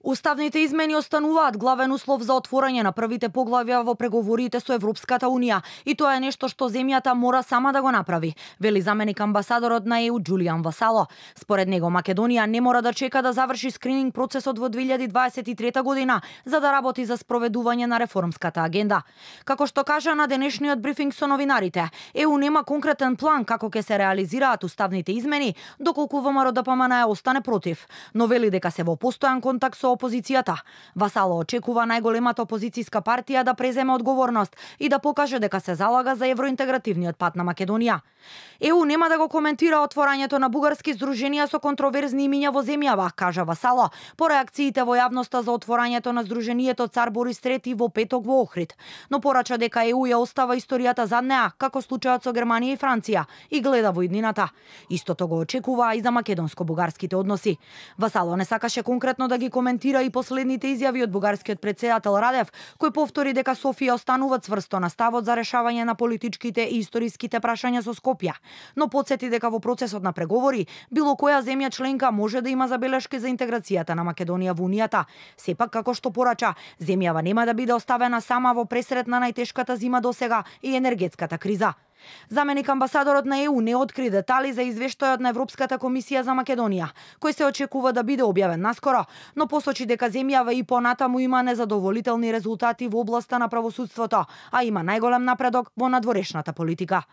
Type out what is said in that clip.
Уставните измени остануваат главен услов за отворање на првите поглавја во преговорите со Европската Унија и тоа е нешто што земјата мора сама да го направи, вели заменик амбасадорот на ЕУ Џулијан Васало. Според него Македонија не мора да чека да заврши скрининг процесот во 2023 година за да работи за спроведување на реформската агенда. Како што кажа на денешниот брифинг со новинарите, ЕУ нема конкретен план како ќе се реализираат уставните измени, доколку ВМРО-ДПМН остане против, но вели дека се во постојан контакт со опозицијата. Васало очекува најголемата опозицијска партија да преземе одговорност и да покаже дека се залага за евроинтегративниот пат на Македонија. ЕУ нема да го коментира отворањето на бугарски здруженија со контроверзни имиња во земјава, кажа Васало, по реакциите во јавноста за отворањето на здруженијето Цар Борис III во петок во Охрид, но порача дека ЕУ ја остава историјата зад неа, како случајот со Германија и Франција, и гледа во иднината. Истото го очекува и за македонско-бугарските односи. Васало не сакаше конкретно да ги коментира и последните изјави од бугарскиот претседател Радев, кој повтори дека Софија останува цврсто на ставот за решавање на политичките и историските прашања со Скопје, но потсети дека во процесот на преговори било која земја членка може да има забелешки за интеграцијата на Македонија во Унијата. Сепак, како што порача, земјава нема да биде оставена сама во пресрет на најтешката зима досега и енергетската криза. Заменик амбасадорот на ЕУ не откри детали за извештајот на Европската комисија за Македонија, кој се очекува да биде објавен наскоро, но посочи дека земјава и понатаму има незадоволителни резултати во областа на правосудството, а има најголем напредок во надворешната политика.